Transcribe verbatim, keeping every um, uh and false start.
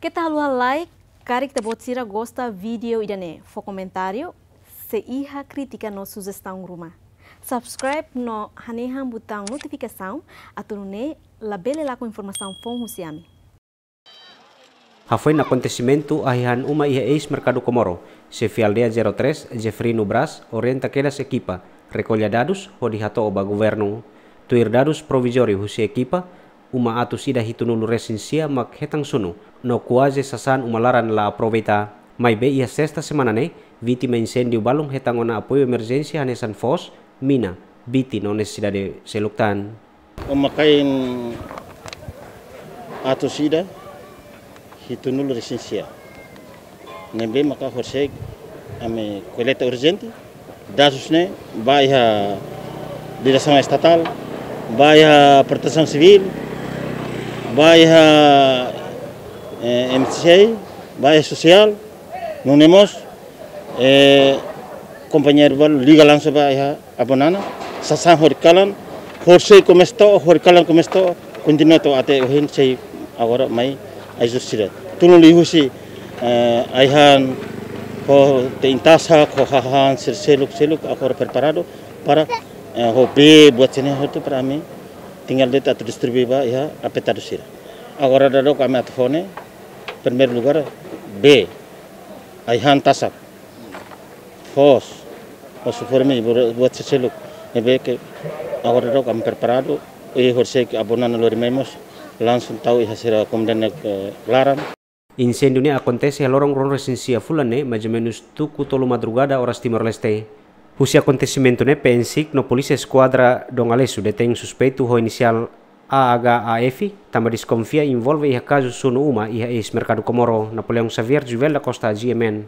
Keta haluha like, karik ita-boot sira gosta vídeo ida-ne'e, fó komentáriu, se iha krítika no sujestaun ruma. Subscribe no hanehan butaun notifikasaun, atu nune'e labele lakon informasaun foun husi ami. Hafoin akontesimentu ai-han uma iha eis Merkadu Komoro, xefe aldeia zero três, Jefrino Braz, orienta kedas ekipa rekolla dadus hodi hato'o ba governu. Tuir dadus provizóriu husi ekipa, uma atus ida hitunulu resin sia mak hetan sunu, no kuaze sasán uma laran la aproveita. Maibé iha sesta semana ne'e, vítima inséndiu balun hetan ona apoiu emerjénsia hanesan foos, mina, biti no nesesidade seluk tan. Uma kain atus ida hitunulu resin sia. Ne'ebé maka horisehik ami koleta urjente dadus ne'e ba iha diresaun estatál, ba iha protesaun sivíl, ba iha, eh, M C I, ba iha sosiál, nune'e mós, eh, kompañeiru balu liga langsung ba iha Abonana, sasán hori kalan, horisehik komesa to'o, hori kalan komesa to'o, kontinua to'o até ohin sei agora mai ajuda sira. Tulun liuhusi, eh, ai-han, ho te'in tasak, ho hahán sira seluk-seluk, agora preparadu para, eh, ho bee buat sira-ne'e hotu para ami tinggal de'it atu distribui ba iha afetadu sira. Agora daudaun ami atu fó ne'e, primeiru lugar, bee, ai-han tasak, foos, ho suforme, buat sira seluk. Ne'ebé ke agora daudaun ami preparadu, i horisehik Abonana lori mai mós langsung tau iha sira komunidade, eh, laran. Inséndiu ne'e akontese iha loron ruanulu resin sia fulan ne'e, mais ou menus tuku tolu madrugada oras Timor-Leste. Husi akontesimentu ne'e, P N SIC no Polísia Eskuadra Dom Aleixo detein suspeitu ho inisiál A H A F, tanba deskonfia envolve iha kazu sunu uma iha eis Merkadu Komoro. Napoleão Xavier, Juvel da Costa, G M N.